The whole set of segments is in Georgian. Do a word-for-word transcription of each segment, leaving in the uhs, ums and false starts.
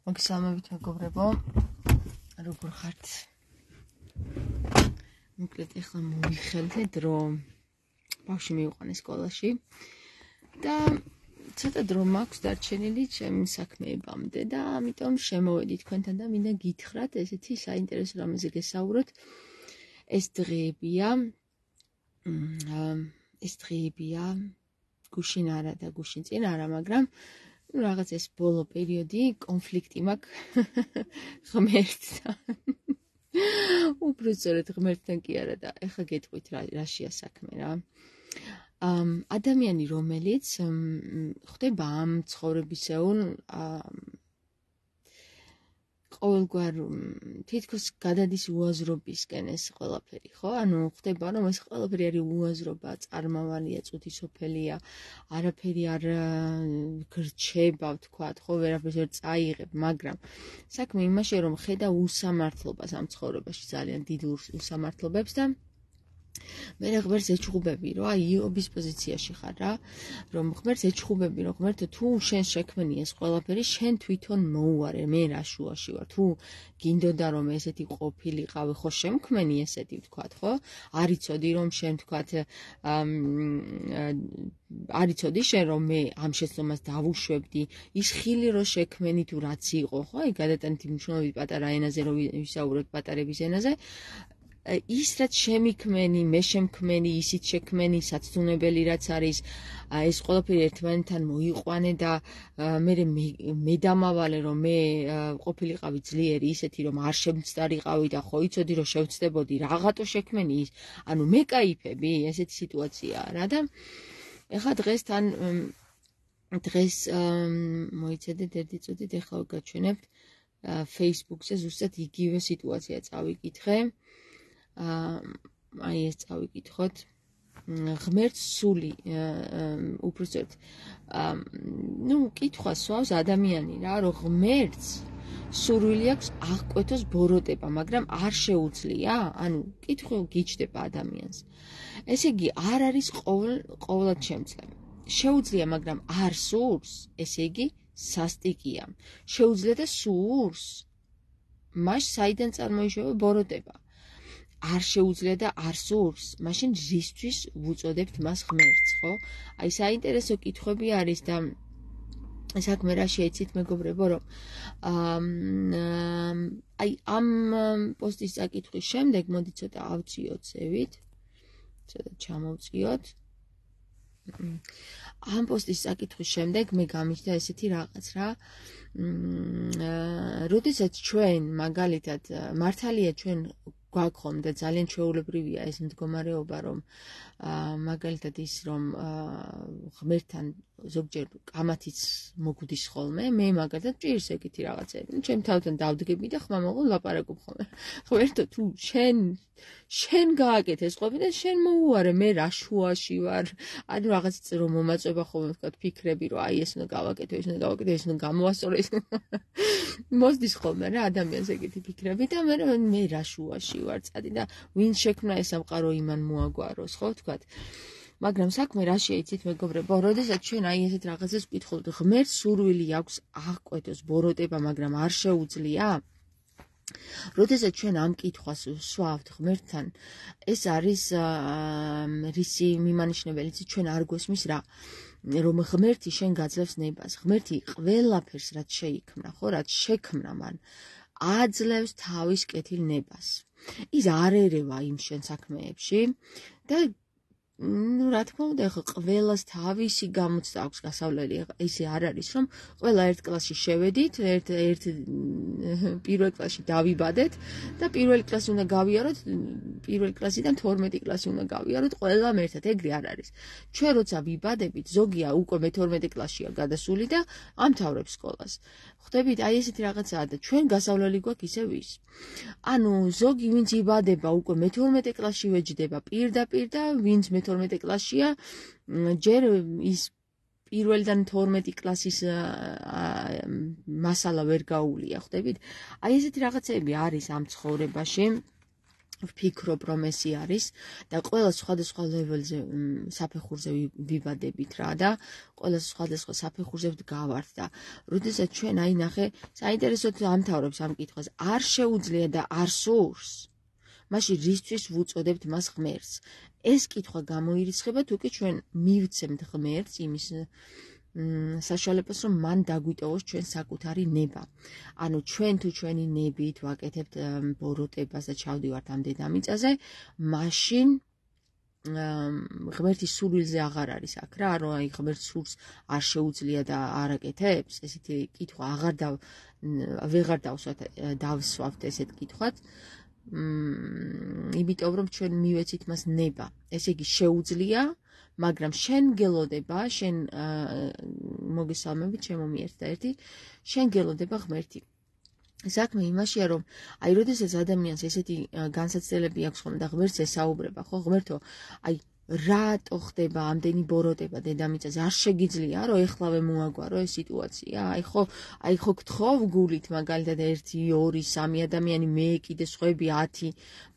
მოგესალმებით მეგობრებო, როგორ ხართ? მოკლედ ახლა მოვიხელეთ, რომ ბავშვი მივიყვანე სკოლაში და ცოტა დრო მაქვს დარჩენილი ჩემი საქმეებამდე და ამიტომ შემოვედი თქვენთან და მინდა გითხრათ ესეთი საინტერესო რამეზე გესაუბროთ. ეს დღეებია, ეს დღეებია გუშინ არა და გუშინ წინ არა, მაგრამ რაღაც ეს ბოლო პერიოდი კონფლიქტი მაქვს ღმერთთან. უბრალოდ ღმერთთან კი არა და ეხლა გეტყვით რაშია საქმე რა. ადამიანი რომელიც ხდება ამ ცხოვრებისეულ ყოველგვარ თითქოს გადადის უაზრობისკენ ეს ყველაფერი, ხო? ანუ ხდება რომ ეს ყველაფერი არის უაზრობა, წარმავალია, წუთისოფელია, არაფერი არ გრჩება, ვთქვათ, ხო, ვერაფერს ვერ წაიღებ, მაგრამ საქმე იმაშია რომ ხედა უსამართლობას ამ ცხოვრებაში, ძალიან დიდ უსამართლობებს და მე ღმერთს ეჩხუბები, რომ აი იობის პოზიციაში ხარ რა, რომ ღმერთს ეჩხუბები, რომ ღმერთო თუ შენ შექმნი ეს ყველაფერი, შენ თვითონ მოუარე, მე რა შუაში ვარ, თუ გინდოდა რომ ესეთი ყოფილიყავი, ხო შემქმენი ესეთი ვთქვათ, ხო? არ იცოდი რომ შენ ვთქვათ, არ იცოდი შენ რომ მე ამ შეცდომას დავუშვებდი, ის ხილი რო შექმენი თუ რაც იყო, ხო? აი გადატანითი მნიშვნელობით პატარა ენაზე რო ვისაუბროთ პატარების ენაზე, ის რაც შემიქმენი, მე შემქმენი, ისიც შექმენი, საცდუნებელი რაც არის, ეს ყველაფერი ერთმანეთთან მოიყვანე და მე მე დამავალე რომ მე ყოფილიყავი ძლიერი ისეთი რომ არ შემცდარიყავი და ხო იცოდი რომ შევცდებოდი, რაღაცო შექმენი ის, ანუ მე кайფები, ესეთი სიტუაციაა რა და ეხლა დღეს თან დღეს მოიცადეთ ერთი წუთით, ეხლა გაჩვენებთ Facebook-ზე ზუსტად იგივე სიტუაცია წავიკითხე. აი ეს წავიკითხოთ. ღმერთს სული, უბრალოდ ნუ კითხვა სვავს ადამიანი რა, რომ ღმერთს სურვილი აქვს აღკვეთოს ბოროტება, მაგრამ არ შეუძლია, ანუ კითხვა გიჩდება ადამიანს. ესე იგი, არ არის ყოველად შემძლე. შეუძლია, მაგრამ არ სურს, ესე იგი, სასტიკია. შეუძლია და სურს, მას საიდან წარმოიშვა ბოროტება. არ შეუძლია და არ სურს, მაშინ რისთვის ვუწოდებთ მას ღმერთს, ხო? აი საინტერესო კითხვები არის და საქმე რა შეიცით მეგობრებო, რომ აი ამ პოსტის წაკითხვის შემდეგ მოდი ცოტა ავწიოთ ზევით, ცოტა ჩამოვწიოთ. ამ პოსტის წაკითხვის შემდეგ მე გამიჩნდა ესეთი რაღაც რა, როდესაც ჩვენ მაგალითად მართალია ჩვენ გვაქვს და ძალიან ჩვეულებრივია ეს მდგომარეობა, რომ მაგალითად ის რომ ღმერთთან ზოგჯერ კამათიც მოგვდის ხოლმე, მე მაგალითად ჭირს ეგეთი რაღაცები. ჩემ თავთან დავდგები და ხმამაღლა ლაპარაკობ ხოლმე. ღმერთო, თუ შენ შენ გააკეთე ეს ყოფილი და შენ მოუარე, მე რა შუაში ვარ. ანუ რაღაც რომ მომაწვება ხოლმე ვთქვათ ფიქრები, რომ აი ეს უნდა გავაკეთო, ეს უნდა გავაკეთო, ეს უნდა გამოვასწორო, ეს მოსდის ხოლმე რა ადამიანს ეგეთი ფიქრები და მე მე რა შუაში ვარ წადი და ვინ შექმნა ეს სამყარო იმან მოაგვაროს, ხო ვთქვათ. მაგრამ საქმე რა შეიცით მეგობრებო, როდესაც ჩვენ აი ესეთ რაღაცას ვკითხავთ, ღმერთს სურვილი აქვს აღკვეთოს ბოროტება, მაგრამ არ შეუძლია. როდესაც ჩვენ ამ კითხვას ვსვავთ ღმერთთან, ეს არის რისი მიმანიშნებელი, ჩვენ არ გვესმის რა, რომ ღმერთი შენ გაძლევს ნებას, ღმერთი ყველაფერს რაც შეიქმნა, ხო, რაც შექმნა მან, აძლევს თავის კეთილ ნებას. ის არ ერევა იმ შენ საქმეებში და ну, რა თქმა უნდა, ახლა ყველას თავისი გამოცდა აქვს გასავლელი. ისე არ არის, რომ ყველა ერთ კლასში შევედით, ერთ ერთ პირველ კლასში დავიბადეთ და პირველ კლასი უნდა გავიაროთ, პირველ კლასიდან თორმეტი კლასი უნდა გავიაროთ, ყველამ ერთად, ეგრე არ არის. ჩვენ როცა ვიბადებით, ზოგია უკვე მეთორმეტე კლასშია გადასული და ამთავრებს სკოლას. ხვდებით, აი ესეთი რაღაცაა და ჩვენ გასავლელი გვაქვს ისევ ის. ანუ ზოგი ვინც იბადება უკვე მეთორმეტე კლასში ვეჯდება პირდაპირ და ვინც მეთორმეტე კლასშია, ჯერ ის პირველიდან თორმეტი კლასის მასალა ვერ გაუვლია, ხვდებით? აი ესეთი რაღაცები არის ამ ცხოვრებაში. ვფიქრობ, რომ ესე არის და ყველა სხვადასხვა ლეველზე საფეხურზე ვიბადებით რა და ყველა სხვადასხვა საფეხურზე ვდგავართ და როდესაც ჩვენ აი ნახე, საინტერესოდ ამთავრებს ამ კითხვას, არ შეუძლია და არ სურს, მაშინ რისთვის ვუწოდებთ მას ღმერთს? ეს კითხვა გამოირიცხება თუ კი ჩვენ მივცემთ ღმერთს იმის საშუალებას, რომ მან დაგვიტოვოს ჩვენ საკუთარი ნება. ანუ ჩვენ თუ ჩვენი ნებით ვაკეთებთ ბოროტებას და ჩავდივართ ამ დედამიწაზე, მაშინ ღმერთის სულვილზე აღარ არის აქ რა, რომ აი ღმერთს სულს არ შეუძლია და არ აკეთებს, ესეთი კითხვა აღარ და ვეღარ დავსვათ დავსვავთ ესეთ კითხვას. იმიტომ რომ ჩვენ მივეცით მას ნება. ესე იგი შეუძლია, მაგრამ შენ გელოდება, შენ მოგესალმებით, ჩემო მიერთდა-ერთი, შენ გელოდება ღმერთი. საქმე იმაშია, რომ აი როდესაც ადამიანს ესეთი განსაცდელები აქვს ხომ და ღმერთს ესაუბრება, ხო, ღმერთო, აი რატო ხდება ამდენი ბოროტება დედამიწაზე? არ შეგიძლია, რომ ეხლავე მოაგვარო ეს სიტუაცია? აი ხო, აი ხო გთხოვ გულით მაგალითად ერთი, ორი, სამი ადამიანი, მე კიდე სხვები ათი,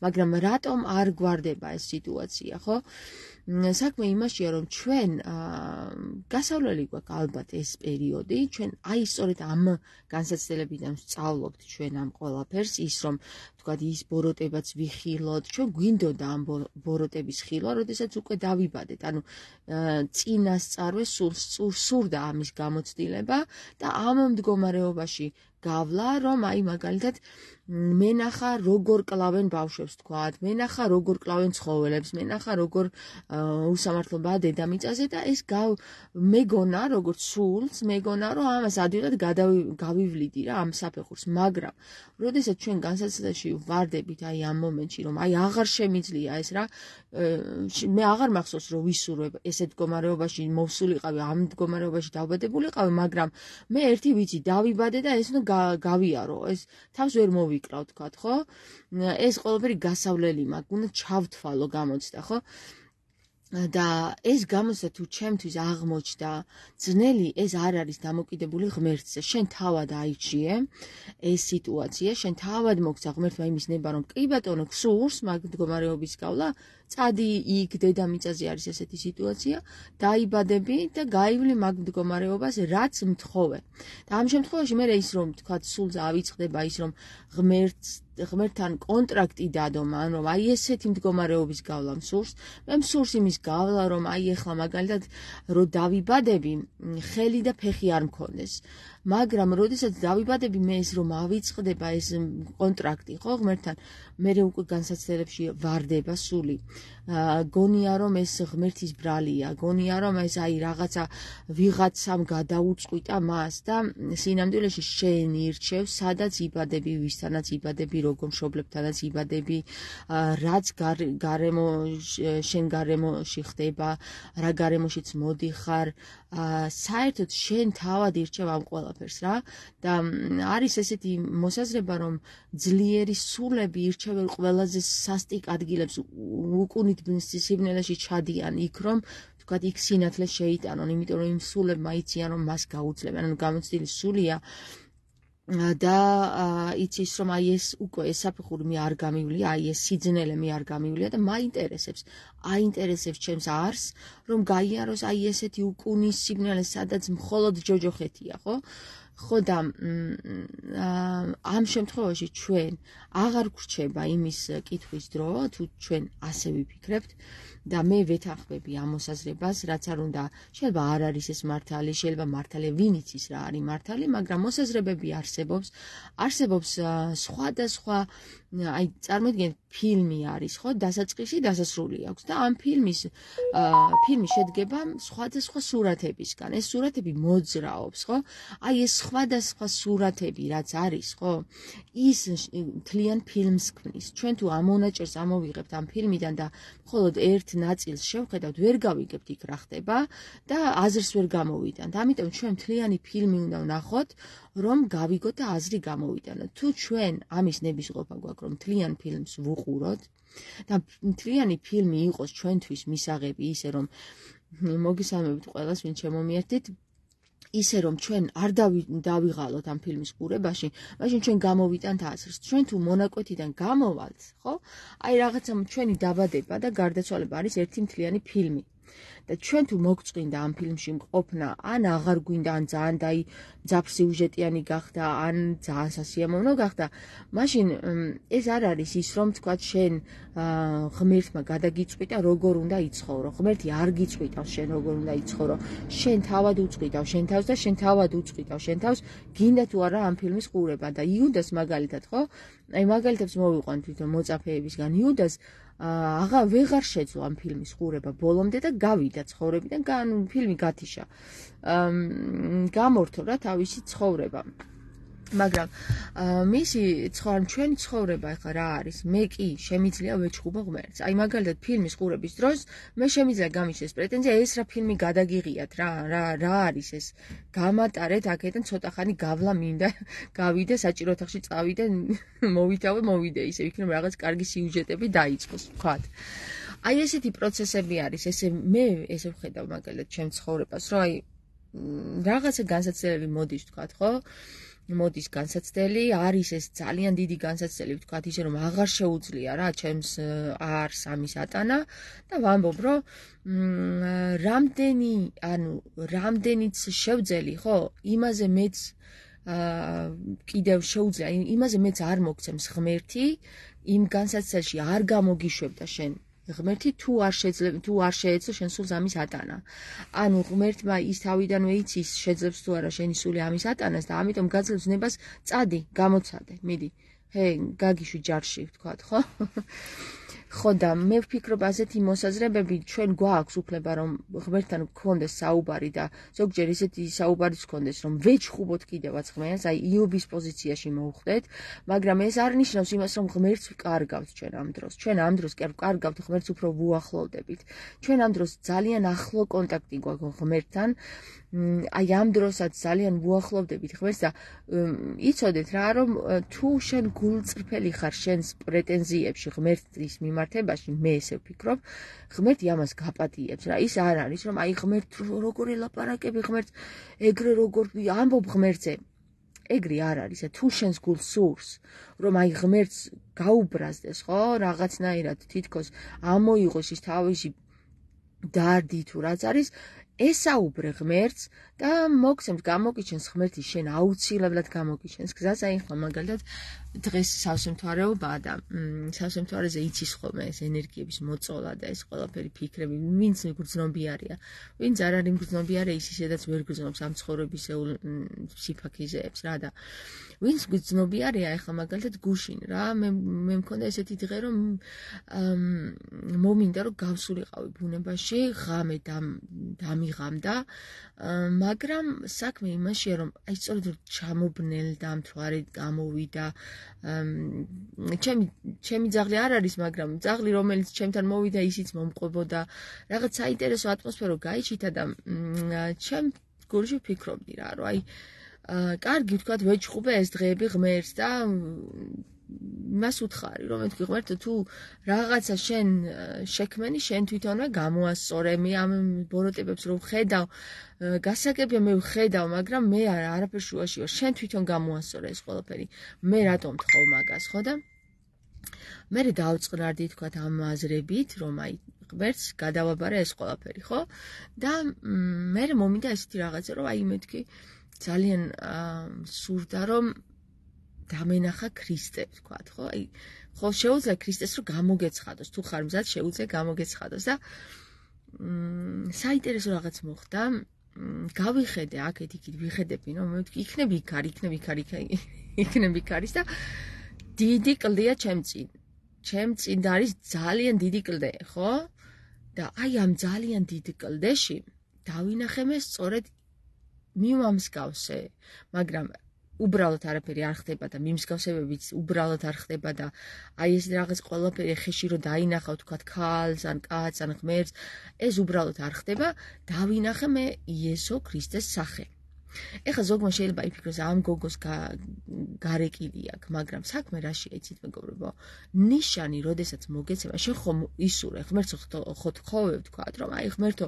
მაგრამ რატომ არ გვარდება ეს სიტუაცია, ხო? საქმე იმაშია, რომ ჩვენ გასავლელი გვაქვს ალბათ ეს პერიოდი, ჩვენ აი სწორედ ამ განსაცდელებიდან ვსწავლობთ ჩვენ ამ ყველაფერს, ის რომ თქვათ ის ბოროტებაც ვიხილოთ, ჩვენ გვინდოდა ამ ბოროტების ხილვა, როდესაც უკვე დავიბადეთ, ანუ წინასწარვე სურდა ამის გამოცდილება და ამ მდგომარეობაში გავლა, რომ აი მაგალითად მენახა როგორ კლავენ ბავშვებს თქვათ, მენახა როგორ კლავენ ცხოველებს, მენახა როგორ უსამართლობაა დედამიწაზე და ეს მეგონა როგორც სულს, მეგონა რომ ამას ადვილად გავივლიდი რა ამ საფეხურს, მაგრამ როდესაც ჩვენ განსაცდელში ვარდებით აი ამ მომენტში, რომ აი აღარ შემიძლია ეს რა, მე აღარ მახსოვს რომ ვისურვებ ესეთ მდგომარეობაში მოვსულიყავი, ამ მდგომარეობაში დავბადებულიყავი, მაგრამ მე ერთი ვიცი, დავიბადე და ეს გავიარო, ეს თავს ვერ მოვიკრავ თქვათ, ხო? ეს ყველაფერი გასავლელი მაქვს, უნდა ჩავთვალო გამოცდა, ხო? და ეს გამოცდა თუ ჩემთვის აღმოჩნდა ძნელი, ეს არ არის დამოკიდებული ღმერთზე. შენ თავად აიჩიე ეს სიტუაცია, შენ თავად მოგცა ღმერთმა იმის ნება, რომ კი ბატონო, გსურს მაგ მდგომარეობის გავლა, წადი იქ დედამიწაზე არის ესეთი სიტუაცია, დაიბადები და გაივლი მაგ მდგომარეობას, რაც მთხოვე. და ამ შემთხვევაში მე ის რომ თქვათ სულზე ავიწყდება ის რომ ღმერთს ღმერთთან კონტრაქტი დადო მან, რომ აი ესეთი მდგომარეობის გავლა მსურს, მე მსურს იმის გავლა, რომ აი ეხლა მაგალითად რო დავიბადები, ხელი და ფეხი არ მქონდეს. მაგრამ როდესაც დავიბადები, მე ეს რომ ავიწყდება ეს კონტრაქტი, ხო, ღმერთთან, მე უკვე განსაცდელებში ვარდება სული. გონია რომ ეს ღმერთის ბრალია, გონია რომ ეს აი რაღაცა ვიღაცამ გადაუწყვიტა მას და სინამდვილეში შენ ირჩევ, სადაც იბადები, ვისთანაც იბადები, როგორ მშობლებთანაც იბადები, რაც გარემო შენ გარემოში ხდება, რა გარემოშიც მოდიხარ, საერთოდ შენ თავად ირჩევ ამ ყველაფერს რა და არის ესეთი მოსაზრება, რომ ძლიერი სულები ირჩევენ ყველაზე სასტიკ ადგილებს, უკუნით სიბნელეში ჩადიან იქ რომ თქვათ იქ სინათლე შეიტანონ, იმიტომ რომ იმ სულებმა იციან რომ მას გაუძლებენ, ანუ გამოცდილი სულია და იცის რომ აი ეს უკვე ეს საფეხური მე არ გამივლია, აი ეს სიძნელე მე არ გამივლია და მაინტერესებს, აინტერესებს ჩემს არს რომ გაიაროს აი ესეთი უკუნის სიბნელე, სადაც მხოლოდ ჯოჯოხეთია, ხო? ხო და ამ შემთხვევაში ჩვენ აღარ გვრჩება იმის კითხვის დრო, თუ ჩვენ ასე ვიფიქრებთ და მე ვეთანხმები ამ მოსაზრებას, რაც არ უნდა, შეიძლება არ არის ეს მართალი, შეიძლება მართალია ვინ იცის რა არის მართალი, მაგრამ მოსაზრებები არსებობს, არსებობს სხვადასხვა, აი წარმოიდგინეთ ფილმი არის, ხო, დასაწყისი, დასასრული აქვს და ამ ფილმის ფილმი შედგება სხვადასხვა სურათებისგან. ეს სურათები მოძრაობს, ხო? აი ეს სხვადასხვა სურათები რაც არის, ხო? ის მთლიან ფილმს ქმნის. ჩვენ თუ ამ მონაჭერს ამოვიღებთ ამ ფილმიდან და მხოლოდ ერთ ნაწილს შევხედავთ, ვერ გავიგებთ იქ რა ხდება და აზრს ვერ გამოვიტანთ. ამიტომ ჩვენ მთლიანი ფილმი უნდა ვნახოთ, რომ გავიგოთ და აზრი გამოვიტანოთ. თუ ჩვენ ამის ნებისყოფა გვაქვს, რომ მთლიან ფილმს ვუყუროთ და მთლიანი ფილმი იყოს ჩვენთვის მისაღები ისე, რომ მოგესალმებით ყველას, ვინ შემომიერთით, ისე რომ ჩვენ არ დავიღალოთ ამ ფილმის ყურებაში, მაშინ ჩვენ გამოვიტანთ აზრს. ჩვენ თუ მონაკვეთიდან გამოვალთ, ხო? აი რაღაცა ჩვენი დაბადება და გარდაცვალება არის ერთი მთლიანი ფილმი. და ჩვენ თუ მოგწყვინდა ამ ფილმში მყოფნა, ან აღარ გვინდა, ან ძალიან დაი ძაფსიუჟეტიანი გახდა, ან ძალიან სასიამოვნო გახდა, მაშინ ეს არ არის ის, რომ თქვა შენ ღმერთმა გადაგიწყვიტა, როგორ უნდა იცხოვრო. ღმერთი არ გიწყვიტავს შენ როგორ უნდა იცხოვრო. შენ თავად უწყვიტავ შენ თავს და შენ თავად უწყვიტავ შენ თავს, გინდა თუ არა ამ ფილმის ყურება. და იუდას მაგალითად, ხო? აი მაგალითებს მოვიყვან თვითონ მოწაფეებისგან. იუდას აღარ ვეღარ შეძლო ამ ფილმის ყურება ბოლომდე და გავიდა ცხოვრებიდან, ფილმი გათიშა. გამორთო რა თავისი ცხოვრება. მაგრამ მისი ცხოვრება, ჩვენი ცხოვრება ახლა რა არის? მე კი შემიძლია ვეჩხუბო ღმერთს. აი მაგალითად ფილმის ყურების დროს მე შემიძლია გამიჩნდეს პრეტენზია, ეს რა ფილმი გადაგიღიათ რა, რა, რა არის ეს? გამატარეთ აქედან ცოტა ხანი გავლა მინდა, გავიდე საჭირო ოთახში წავიდე, მოვითავე, მოვიდე, ისე იქნება რაღაც კარგი სიუჟეტები დაიწყოს, ვთქვათ. აი ესეთი პროცესები არის, ესე მე ესე ვხედავ მაგალითად ჩემ ცხოვრებას, რომ აი რაღაცა განსაცდელი მოდის, ვთქვათ, ხო? მოდის განსაცდელი, არის ეს ძალიან დიდი განსაცდელი, ვთქვათ, ისე რომ აღარ შეუძლია რა ჩემს არს ამის ატანა და ვამბობ, რომ რამდენი, ანუ რამდენიც შევძელი, ხო, იმაზე მეც კიდევ შეუძლია, იმაზე მეც არ მოგცემს ღმერთი, იმ განსაცდელში არ გამოგიშვებდა შენ ღმერთი თუ არ შეძლებ თუ არ შეეძლო შენ სულს ამის ატანა. ანუ ღმერთმა ის თავიდანვე იცის შეძლებს თუ არა შენი სული ამის ატანას და ამიტომ გაძლევს ნებას წადი, გამოცადე, მიდი. ჰე, გაგიშვი ჯარში, ვთქვათ, ხო? ხო და მე ვფიქრობ ასეთი მოსაზრებები ჩვენ გვაქვს უფლება რომ ღმერთთან გქონდეს საუბარი და ზოგჯერ ისეთი საუბარიც გქონდეს რომ ვეჩხუბოთ კიდევაც ღმერთს, აი იობის პოზიციაში მოვხვდეთ, მაგრამ ეს არ ნიშნავს იმას რომ ღმერთს ვკარგავთ ჩვენ ამ დროს. ჩვენ ამ დროს კი არ ვკარგავთ, ღმერთს უფრო ვუახლოვდებით. ჩვენ ამ დროს ძალიან ახლო კონტაქტი გვაქვს ღმერთთან. აი ამ დროსაც ძალიან ვუახლოვდებით ღმერთს და იცოდეთ რა რომ თუ შენ გულწრფელი ხარ შენს პრეტენზიებში ღმერთის მიმართებაში, მე ესე ვფიქრობ, ღმერთი ამას გაპატიებს რა. ის არ არის რომ აი ღმერთ როგორ ელაპარაკები ღმერთს, ეგრე როგორ ამბობ ღმერთზე. ეგრე არ არის, თუ შენს გულს სურს, რომ აი ღმერთს გაუბრაზდეს, ხო, რაღაცნაირად თითქოს ამოიღოს ის თავისი დარდი თუ რაც არის, ესაუბრე ღმერთს და მოგცემს გამოგიჩენს ღმერთი შენ აუცილებლად გამოგიჩენს გზას. აი ხო მაგალითად დღეს სავსემთვარეობაა და სავსემთვარეზე იცის ხოლმე ეს ენერგიების მოწოლა და ეს ყველაფერი ფიქრები, ვინც მიგრძნობიარია, ვინც არ არის მგრძნობიარე, ის ისედაც ვერ გრძნობს ამ ცხოვრებისეულ სიფაქიზეებს რა და ვინც გრძნობიარია, ეხლა მაგალითად გუშინ რა, მე მე მქონდა ესეთი დღე რომ მომინდა რომ გავსულიყავი ბუნებაში, ღამე დამიღამდა, მაგრამ საქმე იმაშია რომ აი სწორედ ჩამობნელდა, მთვარე გამოვიდა, ჩემი ჩემი ძაღლი არ არის, მაგრამ ძაღლი რომელიც ჩემთან მოვიდა, ისიც მომყვებოდა, რაღაც საინტერესო ატმოსფერო გაიჩითა და ჩემ გულში ვფიქრობდი რა, რომ აი კარგი ვთქვათ, ვეჩხუბე ეს დღეები ღმერთს და მას უთხარი, რომ მეთქი ღმერთო, თუ რაღაცა შენ შექმენი, შენ თვითონვე გამოასწორე, მე ამ ბოროტებებს რო ვხედავ, გასაგებია მე ვხედავ, მაგრამ მე არაფერ შუაში ვარ, შენ თვითონ გამოასწორე ეს ყველაფერი. მე რატომ თხოვ მაგას, ხო და მე დავწყნარდი თქვათ ამ აზრებით, რომ აი ღმერთს გადავაბარე ეს ყველაფერი, ხო? და მე მომინდა ესეთი რაღაცა, რომ აი მეთქი ძალიან სურდა რომ დამენახა ქრისტე, ვთქვათ, ხო? აი, ხო შეუძლია ქრისტეს რომ გამოგეცხადოს, თუ ხარ მზად შეუძლია გამოგეცხადოს და საინტერესო რაღაც მოხდა. გავიხედე აქეთ იქით, ვიხედები, რომ მე ვთქვი, იქნები იქ არის, იქნები იქ არის, იქნები იქ არის და დიდი კლდეა ჩემ წინ. ჩემ წინ არის ძალიან დიდი კლდე, ხო? და აი ამ ძალიან დიდ კლდეში დავინახე მე სწორედ მიმამსგავსე, მაგრამ უბრალოდ არაფერი არ ხდება და მიმსგავსებებიც უბრალოდ არ ხდება და აი ეს რაღაც ყველაფერი ხეში რო დაინახავ, თქვათ, ქალს ან კაცს ან ღმერთს, ეს უბრალოდ არ ხდება, დავინახე მე იესო ქრისტეს სახე. ეხლა ზოგმა შეიძლება იფიქროს ამ გოგოს გარეკილი აქვს, მაგრამ საქმე რაშია იცით მეგობრებო? ნიშანი, როდესაც მოგეცემა, შენ ხომ ისურე, ღმერთო ხო თხოვებ თქვათ, რომ აი ღმერთო,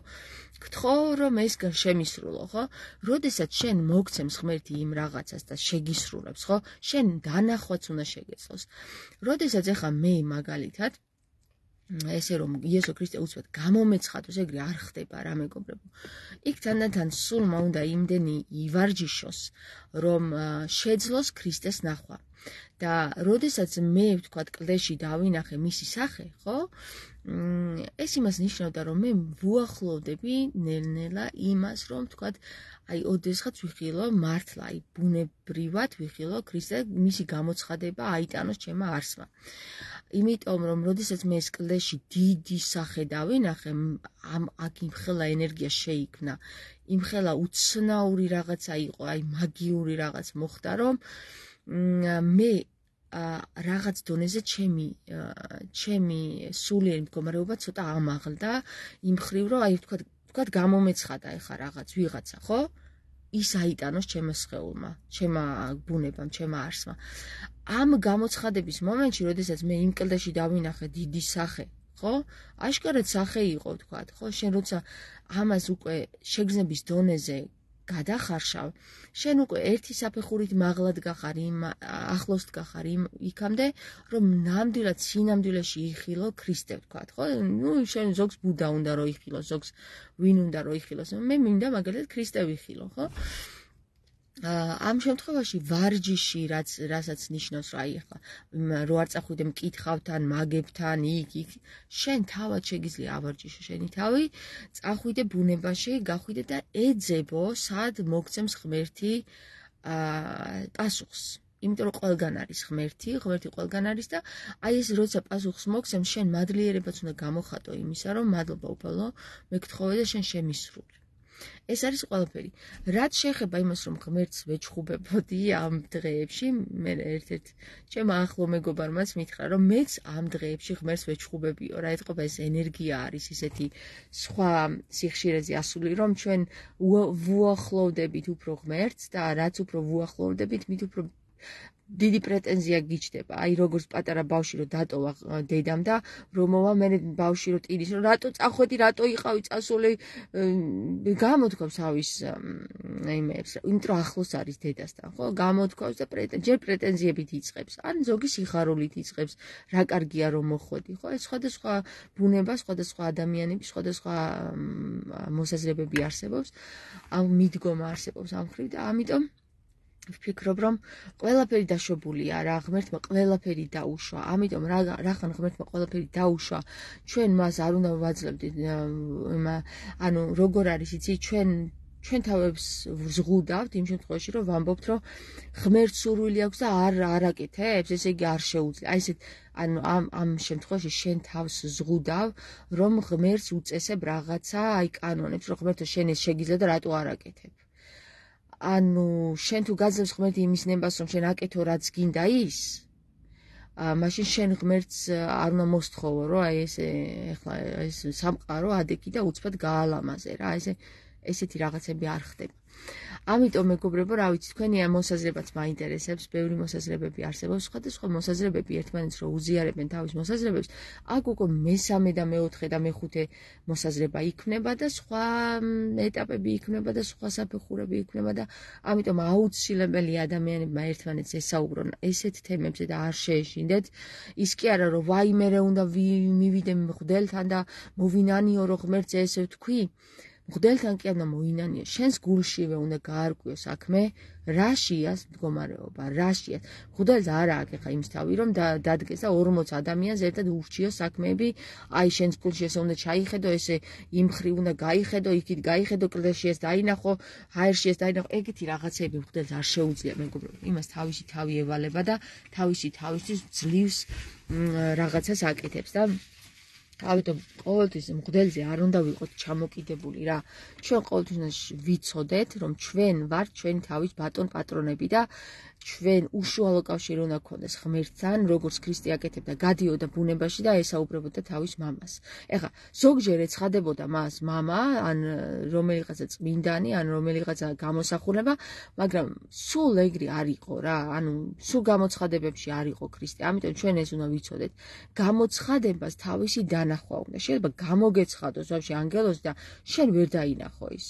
გთხოვ რომ ეს შემისრულო, ხო? როდესაც შენ მოგცემს ღმერთი იმ რაღაცას და შეგისრულებს, ხო? შენ დანახვაც უნდა შეგეძლოს. როდესაც ეხლა მე მაგალითად ესე რომ იესო ქრისტე უცბად გამომეცხადოს, ეგრე არ ხდება რა მეგობრებო. იქ თანდათან სულმა უნდა იმდენი ივარჯიშოს, რომ შეძლოს ქრისტეს ნახვა. და როდესაც მე ვთქვათ კლდეში დავინახე მისი სახე, ხო? ეს იმას ნიშნავდა, რომ მე ვუახლოვდები ნელ-ნელა იმას, რომ ვთქვათ, აი ოდესღაც ვიხილო მართლა, აი ბუნებრივად ვიხილო ქრისტე, მისი გამოცხადება აიტანოს ჩემმა არსმა. იმიტომ რომ როდესაც მე ეს კლდეში დიდი სახე დავინახე, ამ აქ იმხელა ენერგია შეიქმნა, იმხელა უცნაური რაღაცა იყო, აი მაგიური რაღაც მოხდა, რომ მე რაღაც დონეზე ჩემი ჩემი სულიერი მდგომარეობა ცოტა ამაღლდა იმ ხრივ, რომ აი ვთქვათ, ვთქვათ გამომეცხადა ეხა რაღაც ვიღაცა, ხო? ის აიტანოს ჩემმა სხეულმა, ჩემმა ბუნებამ, ჩემმა არსმა. ამ გამოცხადების მომენტში, როდესაც მე იმ კლდეში დავინახე დიდი სახე, ხო? აშკარად სახე იყო, ვთქვათ, ხო? შენ როცა ამას უკვე შეგრძნების დონეზე გადახარშავ, შენ უკვე ერთი საფეხურით მაღლად გახარ იმ ახლოს გახარ იმ იქამდე, რომ ნამდვილად სინამდვილეში იხილო ქრისტე, ვთქვათ, ხო? ნუ შენ ზოგს ბუდა უნდა რომ იხილოს, ზოგს ვინ უნდა რომ იხილოს. მე მინდა მაგალითად ქრისტე ვიხილო, ხო? ამ შემთხვევაში ვარჯიში, რაც რასაც ნიშნავს, რა აი ახლა რო არ წახვიდე მკითხავთან, მაგებთან, იქ იქ, შენ თავად შეგიძლია ავარჯიშო შენი თავი, წახვიდე ბუნებაში, გახვიდე და ეძებო, სად მოგცემს ღმერთი პასუხს. იმიტომ რომ ყველგან არის ღმერთი, ღმერთი ყველგან არის და აი ეს როცა პასუხს მოგცემს, შენ მადლიერებაც უნდა გამოხატო იმისა, რომ მადლობა უფალო, მე გთხოვე და შენ შემისრული. ეს არის ყველაფერი. რაც შეეხება იმას, რომ ღმერთს ვეჩხუბებოდი ამ დღეებში, მე ერთ-ერთ ჩემ ახლო მეგობარმაც მითხრა, რომ მეც ამ დღეებში ღმერთს ვეჩხუბებიო, რა ეთყობა ეს ენერგია არის ისეთი სხვა სიხშირეზე ასული, რომ ჩვენ ვუახლოვდებით უფრო ღმერთს და რაც უფრო ვუახლოვდებით, მით უფრო დიდი პრეტენზია გიჩდება. აი როგორც პატარა ბავშვი რო დატოვა დედამ და რომ მოვა მე ბავშვი რო ტირის, რომ რატო წახვედი, რატო იყავი წასული, გამოთქვავს ავის იმებს, იმიტომ რომ ახლოს არის დედასთან, ხო? გამოთქვავს და ჯერ პრეტენზიებით იწყებს, ან ზოგი სიხარულით იწყებს, რა კარგია რომ მოხვედი, ხო? ეს სხვადასხვა ბუნება, სხვადასხვა ადამიანები, სხვადასხვა მოსაზრებები არსებობს, ამ მიდგომა არსებობს ამ ხრივ და ამიტომ ვფიქრობ, რომ ყველაფერი დაშვებულია რა, ღმერთმა ყველაფერი დაუშვა. ამიტომ რახან ღმერთმა ყველაფერი დაუშვა, ჩვენ მას არ უნდა ვაძლევდით, ანუ როგორ არის იცი, ჩვენ ჩვენ თავებს ვზღუდავთ იმ შემთხვევაში, რომ ვამბობთ, რომ ღმერთს სურვილი აქვს და არ არაკეთებს, ესე იგი არ შეუძლია. აი ესეთ ანუ ამ ამ შემთხვევაში შენ თავს ზღუდავ, რომ ღმერთს უწესებ რაღაცა, აი კანონებს, რომ ღმერთო შენ ეს შეგიძლია და რატო არ აკეთებ. ანუ შენ თუ გაძლევს ღმერთი იმის ნებას, რომ შენ აკეთო რაც გინდა ის, მაშინ შენ ღმერთს არ უნდა მოსთხოვო, რომ აი ესე ეხლა ეს სამყარო ადექი და უცბად გაალამაზე რა, ესე ესეთი რაღაცები არ ხდება. ამიტომ მეგობრებო, რა ვიცი, თქვენი ამ მოსაზრებაც მაინტერესებს, ბევრი მოსაზრებები არსებობს, სხვადასხვა მოსაზრებები ერთმანეთს რო უზიარებენ თავის მოსაზრებებს, აქ უკვე მესამე და მეოთხე და მეხუთე მოსაზრება იქმნება და სხვა ეტაპები იქმნება და სხვა საფეხურები იქმნება და ამიტომ აუცილებელი ადამიანებმა ერთმანეთს ესაუბრონ ესეთ თემებზე და არ შეეშინდეთ. ის კი არა, რომ ვაიმე რა უნდა მივიდე მღვდელთან და მოვინანიო რომ ღმერთს ესე ვთქვი. მღვდელთან კი არა მოინანიო, შენს გულშივე უნდა გაარკვიო საქმე, რაშიას მდგომარეობა, რაშიას. მღვდელს არა აქვს ხა იმის თავი, რომ დადგეს და ორმოც ადამიანს ერთად ურჩიოს საქმეები, აი შენს გულში ესე უნდა ჩაიხედო, ესე იმ ხრივ უნდა გაიხედო, იქით გაიხედო, კლდეში ეს დაინახო, ჰაერში ეს დაინახო, ეგეთი რაღაცები მღვდელს არ შეუძლია მეგობრებო. იმას თავისი თავი ევალება და თავისი თავისთვის ძლივს რაღაცას აკეთებს და ამიტომ ყოველთვის მღვდელზე არ უნდა ვიყოთ ჩამოკიდებული რა. ჩვენ ყოველთვის უნდა ვიცოდეთ, რომ ჩვენ ვართ ჩვენი თავის ბატონ პატრონები და ჩვენ უშუალო კავშირი უნდა გქონდეს ღმერთთან, როგორც ქრისტე აკეთებდა, გადიოდა ბუნებაში და ესაუბრებოდა თავის მამას. ეხლა ზოგჯერ ეცხადებოდა მას მამა, ან რომელიღაცა წმინდანი, ან რომელიღაცა გამოსახულება, მაგრამ სულ ეგრე არ იყო რა, ანუ სულ გამოცხადებებში არ იყო ქრისტე. ამიტომ ჩვენ ეს უნდა ვიცოდეთ. გამოცხადებას თავისი დანახვა უნდა. შეიძლება გამოგეცხადოს ვაფშე ანგელოზი და შენ ვერ დაინახო ის.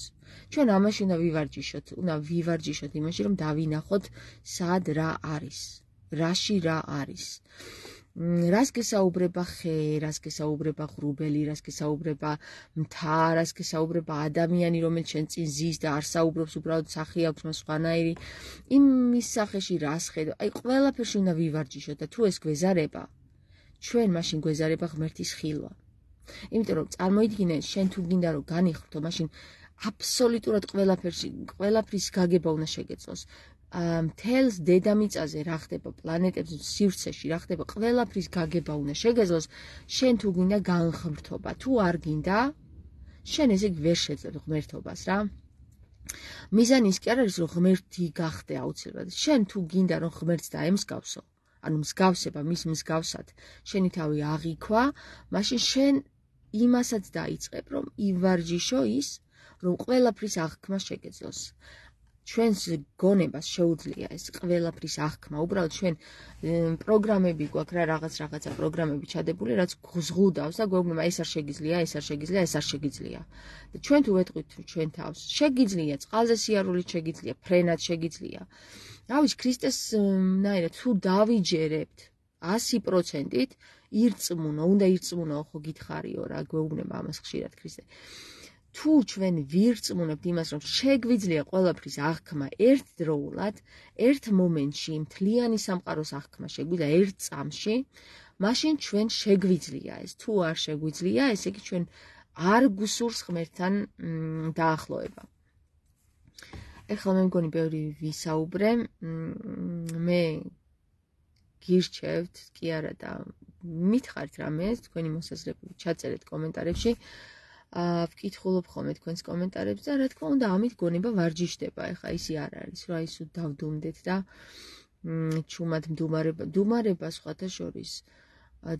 ჩვენ ამაში უნდა ვივარჯიშოთ, უნდა ვივარჯიშოთ იმაში, რომ დავინახოთ სად რა არის, რაში რა არის. რას გესაუბრება ხე, რას გესაუბრება ღრუბელი, რას გესაუბრება მთა, რას გესაუბრება ადამიანი, რომელიც შენ წინ ზის და არ საუბრობს, უბრალოდ სახე აქვს მას სხვანაირი. იმის სახეში რას ხედავ, აი ყველაფერში უნდა ვივარჯიშოთ და თუ ეს გვეზარება, ჩვენ მაშინ გვეზარება ღმერთის ხილვა. იმიტომ რომ წარმოიდგინე, შენ თუ გინდა რომ განიხრთო, მაშინ აბსოლუტურად ყველაფერში, ყველაფრის გაგება უნდა შეგეძლოს. მთელს დედამიწაზე რა ხდება, პლანეტებზე, სივრცეში რა ხდება, ყველაფრის გაგება უნდა შეგეძლოს, შენ თუ გინდა განღმრთობა. თუ არ გინდა, შენ ესე ვერ შეძლებ ღმერთობას რა. მიზანი ის კი არ არის, რომ ღმერთი გახდე აუცილებლად. შენ თუ გინდა რომ ღმერთს დაემსგავსო, ანუ მსგავსება მის მსგავსად, შენი თავი აღიქვა, მაშინ შენ იმასაც დაიწყებ, რომ ივარჯიშო ის, რომ ყველაფრის აღქმა შეგეძლოს. ჩვენს გონებას შეუძლია ეს ყველაფრის აღქმა. უბრალოდ ჩვენ პროგრამები გვაქვს რა, რაღაც რაღაცა პროგრამები ჩადებული, რაც ზღუდავს და გვეუბნება ეს არ შეგიძლია, ეს არ შეგიძლია, ეს არ შეგიძლია. და ჩვენ თუ ვეტყვით ჩვენ თავს, შეგიძლია, წყალზე სიარულით შეგიძლია, ფრენად შეგიძლია. რავის, ქრისტეს ნაირად თუ დავიჯერებთ ასი პროცენტით, ირწმუნო, უნდა ირწმუნო, ხო გითხარიო რა, გვეუბნება ამას ხშირად ქრისტე. თუ ჩვენ ვირწმუნებთ იმას, რომ შეგვიძლია ყველაფრის აღქმა ერთდროულად, ერთ მომენტში, მთლიანი სამყაროს აღქმა შეგვიძლია ერთ წამში, მაშინ ჩვენ შეგვიძლია ეს. თუ არ შეგვიძლია, ესე იგი ჩვენ არ გვსურს ღმერთთან დაახლოება. ეხლა მე მგონი ბევრი ვისაუბრე, მე გირჩევთ, კი არა და მითხარით რამეს, თქვენი მოსაზრებები ჩაწერეთ კომენტარებში. ვკითხულობ ხოლმე თქვენს კომენტარებს და რა თქმა უნდა ამით გონება ვარჯიშდება. ეხლა ისი არ არის, რა ისო დავდუმდეთ და ჩუმად მდუმარება, მდუმარება სხვათა შორის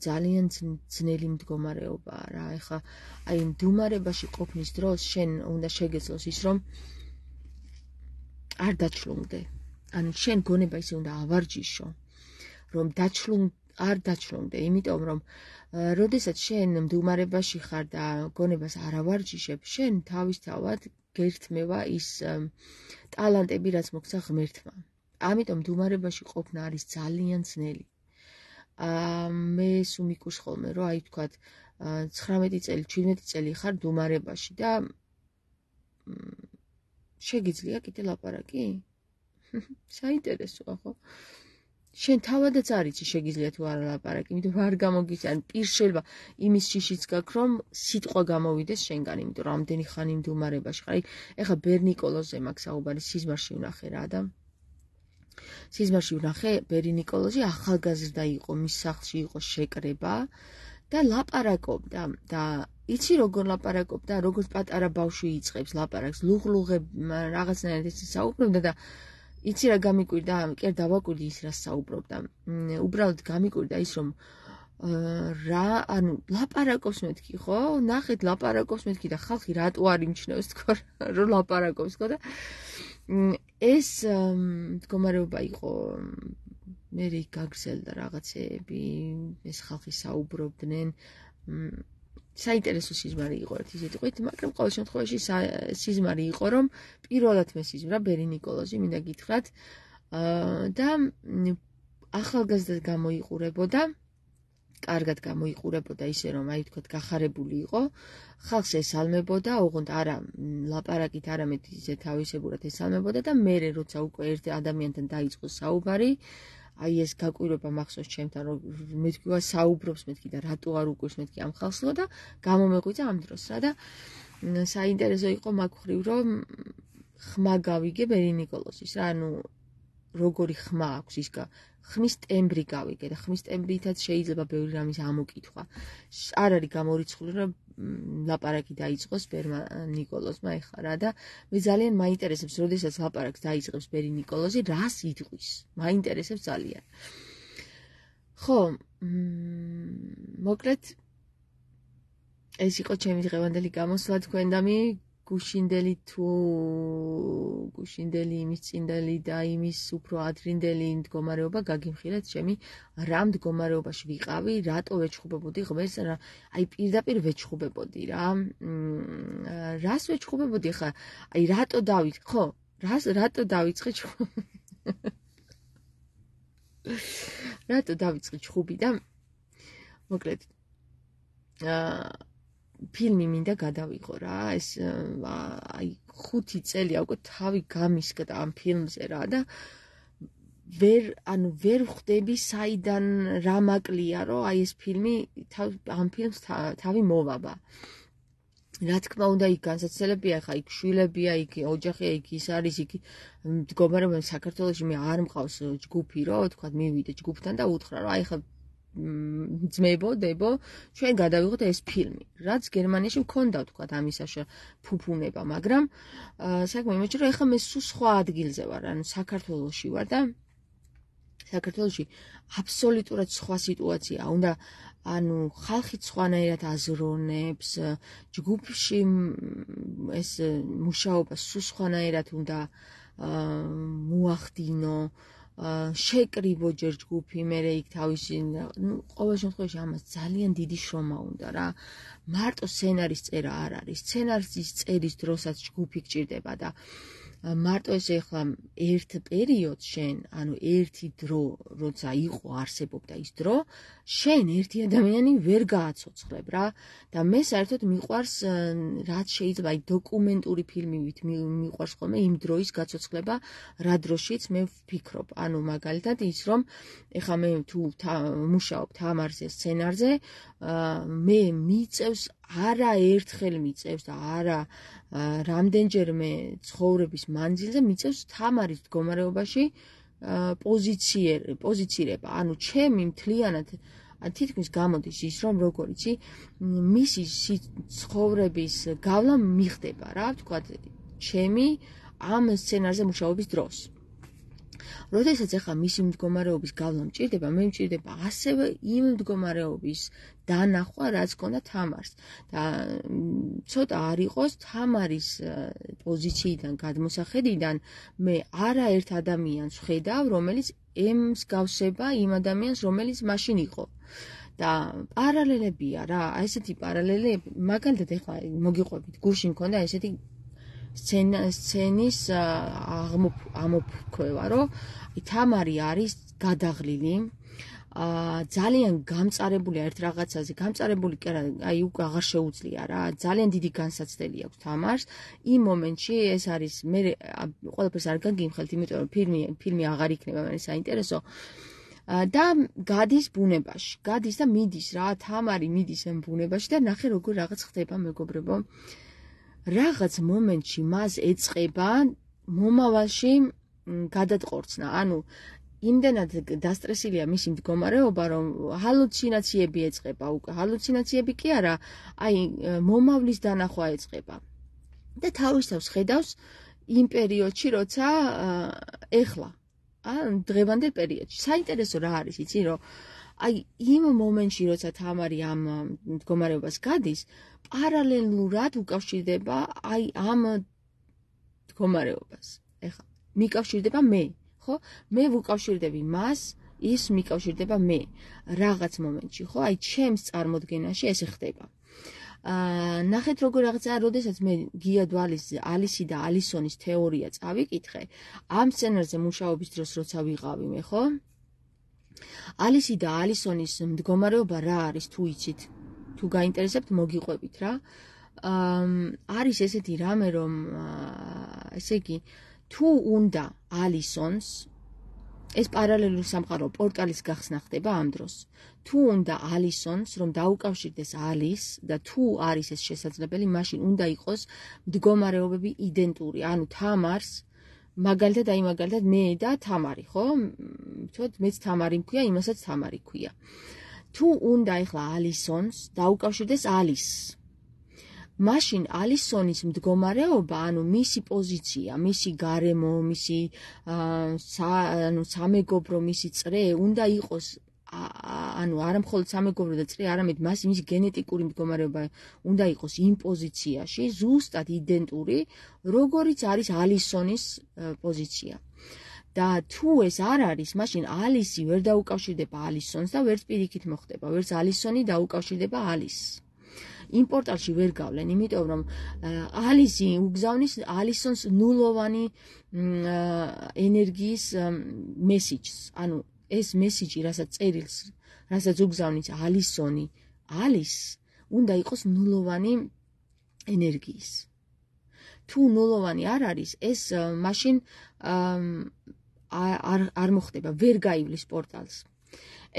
ძალიან ძნელი მდგომარეობაა რა. ეხლა აი მდუმარებაში ყოფნის დროს შენ უნდა შეგეძლოს ის, რომ არ დაჩლუნგდე. ანუ შენ გონება ისე უნდა ავარჯიშო, რომ დაჩლუნ არ დაჩლუნგდე, იმიტომ რომ როდესაც შენ მდუმარებაში ხარ და გონებას არ ავარჯიშებ, შენ თავისთავად გერთმევა ის ტალანტები, რაც მოგცა ღმერთმა. ამიტომ მდუმარებაში ყოფნა არის ძალიან ძნელი. მე სულ მიკურს ხოლმე, რომ აი თქვათ ცხრამეტი წელი, ჩვიდმეტი წელი ხარ მდუმარებაში და შეგიძლია კიდე ლაპარაკი? საინტერესოა ხო? შენ თავადაც არ იცი შეგიძლია თუ არა ლაპარაკი, იმიტომ რომ არ გამოგიცი, ან პირს შეიძლება იმის შიშიც გაქვს, რომ სიტყვა გამოვიდეს შენგან, იმიტომ რომ ამდენი ხანი მდუმარებაში ხარ. ეხლა ბერ ნიკოლოზზე მაქვს საუბარი, სიზმარში ვნახე რა და სიზმარში ვნახე, ბერი ნიკოლოზი ახალგაზრდა იყო, მის სახლში იყო შეკრება და ლაპარაკობდა და იცი როგორ ლაპარაკობდა, როგორც პატარა ბავშვი იწყებს ლაპარაკს, ლუღლუღებ რაღაცნაირად ეს საუბრობდა და იცი რა გამიკვირდა, კი არ დავაკვირდი ის რას საუბრობდა. უბრალოდ გამიკვირდა ის, რომ რა, ანუ ლაპარაკობს მეთქი, ხო? ნახეთ, ლაპარაკობს მეთქი და ხალხი რატო არ იმჩნევს თქო, რომ ლაპარაკობს, ხო და ეს მდგომარეობა იყო, მე გაგრძელდა რაღაცეები, ეს ხალხი საუბრობდნენ. საინტერესო სიზმარი იყო ერთი სიტყვით, მაგრამ ყოველ შემთხვევაში სიზმარი იყო, რომ პირველად მე სიზმრა ბერი ნიკოლოზი, მინდა გითხრათ, და ახალგაზრდად გამოიყურებოდა, კარგად გამოიყურებოდა ისე, რომ აი თქვათ გახარებული იყო, ხალხს ესალმებოდა, ოღონდ არა ლაპარაკით, არამედ ისე თავისებურად ესალმებოდა და მერე როცა უკვე ერთ ადამიანთან დაიწყო საუბარი, აი ეს გაკვირვება მახსოვს ჩემთან, რომ მეთქვა საუბრობს მეთქი და რატო არ უკვირს მეთქი ამ ხალხსო და გამომეღვიძა ამ დროს რა და საინტერესო იყო მაგ ხრივ, რომ ხმა გავიგე ბერი ნიკოლოზის რა, ანუ როგორი ხმა აქვს ის ხმის ტემბრი გავიგე და ხმის ტემბრითაც შეიძლება ბევრი რამის ამოკითხვა. არ არის გამორიცხული რომ ლაპარაკი დაიწყოს ბერმა ნიკოლოზმა ეხლა რა და მე ძალიან მაინტერესებს როდესაც ლაპარაკს დაიწყებს ბერი ნიკოლოზი რას იტყვის. მაინტერესებს ძალიან. ხო, მოკლედ ეს იყო ჩემი დღევანდელი გამოსვლა თქვენ და მე გუშინდელი თუ გუშინდელი იმის წინდელი და იმის უფრო ადრინდელი მდგომარეობა გაგიმხილეთ ჩემი რა მდგომარეობაში ვიყავი, რატო ვეჩხუბებოდი ღმერთს, აი პირდაპირ ვეჩხუბებოდი რა. რას ვეჩხუბებოდი ხა? აი რატო დავით, ხო, რას რატო დავიწყე ჩხუბი? რატო დავიწყე ჩხუბი და მოკლედ აა ფილმი მინდა გადავიღო რა, ეს აი ხუთი წელი უკვე თავი გამისკდა ამ ფილმზე რა და ვერ ანუ ვერ ხვდები საიდან რა მაკლია რომ აი ეს ფილმი ამ ფილმს თავი მოვაბა. რა თქმა უნდა იქ განსაცდელებია ხა იქ შვილებია, იქ ოჯახია, იქ ის არის, იქ მდგომარეობა საქართველოში მე არ მყავს ჯგუფი რომ თქვა მივიდე ჯგუფთან და უთხრა რომ აი ხა ძმებო, დებო, ჩვენ გადავიღოთ ეს ფილმი. რაც გერმანიაში მქონდა თქვა ამისაშა ფუფუნება, მაგრამ საქმე იმაში რომ ეხლა მე სულ სხვა ადგილზე ვარ, ანუ საქართველოში ვარ და საქართველოში აბსოლუტურად სხვა სიტუაცია. უნდა ანუ ხალხი სხვანაირად აზროვნებს, ჯგუფში ეს მუშაობა სულ სხვანაირად უნდა მოახდინო. შეკრიბო ჯერ ჯგუფი, მერე იქ თავისი, ну, ყოველ შემთხვევაში ამას ძალიან დიდი შრომა უნდა რა. მარტო სცენარის წერა არ არის. სცენარის წერის დროსაც ჯგუფი გჭირდება და მარტო ესე ხლა ერთ პერიოდს შენ, ანუ ერთი დრო, როცა იყო არსებობდა ის დრო, შენ ერთი ადამიანი ვერ გააცოცხლებ რა და მე საერთოდ მიყვარს რაც შეიძლება აი დოკუმენტური ფილმივით მიყვარს ხოლმე იმ დროის გაცოცხლება, რა დროშიც მე ვფიქრობ. ანუ მაგალითად ის რომ ეხლა მე თუ მუშაობ თამარზე სცენარზე, მე მიწევს არა ერთხელ მიწევს და არა რამდენჯერმე ცხოვრების მანძილზე მიწევს თამარის მდგომარეობაში პოზიცირება. ანუ ჩემი მთლიანად თითქმის გამოდის ის რომ როგორ იცი მისი ცხოვრების გავლა მიხდება რა ვთქვათ ჩემი ამ სცენარზე მუშაობის დროს. როდესაც ახლა მისი მდგომარეობის გავლა მჭირდება, მე მჭირდება ასევე იმ მდგომარეობის დანახვა, რაც ქონდა თამარს. და ცოტა არ იყოს თამარის პოზიციიდან გადმოსახედიდან მე არაერთ ადამიანს ვხედავ, რომელიც ემსგავსება იმ ადამიანს, რომელიც მაშინ იყო. და პარალელებია რა, ესეთი პარალელები, მაგალითად ახლა მოგიყვებით, გუშინ მქონდა ესეთი სცენის ამოფრქვევა, რომ თამარი არის გადაღლილი, ძალიან გამწარებულია ერთ რაღაცაზე, გამწარებული კი არა, აი უკვე აღარ შეუძლია რა, ძალიან დიდი განსაცდელი აქვს თამარს. იმ მომენტში ეს არის მე ყველაფერს არ გაგიმხელთ, იმიტომ რომ ფილმი ფილმი აღარ იქნება მე საინტერესო. და გადის ბუნებაში, გადის და მიდის რა, თამარი მიდის ამ ბუნებაში და ნახე როგორ რაღაც ხდება მეგობრებო. რაღაც მომენტში მას ეწყება მომავალში გადატყორცნა, ანუ იმდენად დასტრესილია მისი მდგომარეობა, რომ ჰალუცინაციები ეწყება, უკვე ჰალუცინაციები კი არა, აი მომავლის დანახვა ეწყება. და თავის თავს ხედავს იმ პერიოდში, როცა ეხლა, ან დღევანდელ პერიოდში. საინტერესო რა არის, იცი, რომ აი იმ მომენტში, როცა თამარი ამ მდგომარეობას გადის, პარალელურად უკავშირდება აი ამ მდგომარეობას. ეხლა მიკავშირდება მე, ხო? მე ვუკავშირდები მას, ის მიკავშირდება მე. რაღაც მომენტში, ხო? აი ჩემს წარმოდგენაში ესე ხდება. აა ნახეთ როგორ რაღაცა, როდესაც მე გია დვალის ალისი და ალისონის თეორია წავიკითხე, ამ სცენარზე მუშაობის დროს როცა ვიყავი მე, ხო? ალისი და ალისონის მდგომარეობა რა არის თუ იცით? თუ გაინტერესებთ მოგიყვებით რა. აა არის ესეთი რამე რომ ესე იგი თუ უნდა ალისონს ეს პარალელური სამყარო პორტალის გახსნა ხდება ამ დროს. თუ უნდა ალისონს რომ დაუკავშირდეს ალის და თუ არის ეს შესაძლებელი, მაშინ უნდა იყოს მდგომარეობები იდენტური. ანუ თამარს მაგალითად აი მაგალითად მე და თამარი, ხო? ვთქვათ, მეც თამარი მქვია, იმასაც თამარი ქვია. თუ უნდა ეხლა ალისონს დაუკავშირდეს ალისს. მაშინ ალისონის მდგომარეობა, ანუ მისი პოზიცია, მისი გარემო, მისი ანუ სამეგობრო, მისი წრე უნდა იყოს ანუ არა მხოლოდ სამეგობრო და წრე, არამედ მას მისი გენეტიკური მდგომარეობა უნდა იყოს იმ პოზიციაში, ზუსტად იდენტური, როგორიც არის ალისონის პოზიცია. და თუ ეს არ არის, მაშინ ალისი ვერ დაუკავშირდება ალისონს და ვერც პირიქით მოხდება, ვერც ალისონი დაუკავშირდება ალისს. იმ პორტალში ვერ გავლენ, იმიტომ რომ ალისი უგზავნის ალისონს ნულოვანი ენერგიის მესიჯს, ანუ ეს მესიჯი, რასაც წერილს, რასაც უგზავნის ალისონი, ალისს, უნდა იყოს ნულოვანი ენერგიის. თუ ნულოვანი არ არის, ეს მაშინ არ არ მოხდება, ვერ გაივლის პორტალს.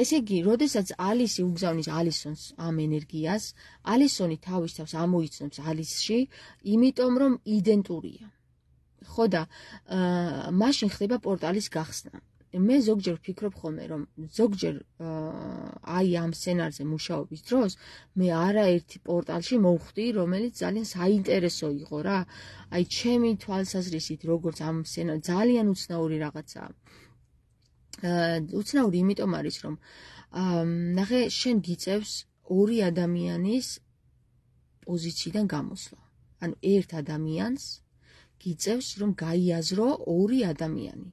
ესე იგი, როდესაც ალისი უგზავნის ალისონს ამ ენერგიას, ალისონი თავის თავს ამოიცნობს ალისში, იმიტომ რომ იდენტურია. ხო და მაშინ ხდება პორტალის გახსნა. მე ზოგჯერ ვფიქრობ ხოლმე, რომ ზოგჯერ აი ამ სცენარზე მუშაობის დროს მე არაერთი პორტალში მოვხვდი, რომელიც ძალიან საინტერესო იყო რა. აი ჩემი თვალსაზრისით, როგორც ამ სცენარ ძალიან უცნაური რაღაცაა. უცნაური იმიტომ არის, რომ ნახე, შენ გიწევს ორი ადამიანის პოზიციიდან გამოსვლა. ანუ ერთ ადამიანს გიწევს, რომ გაიაზრო ორი ადამიანი.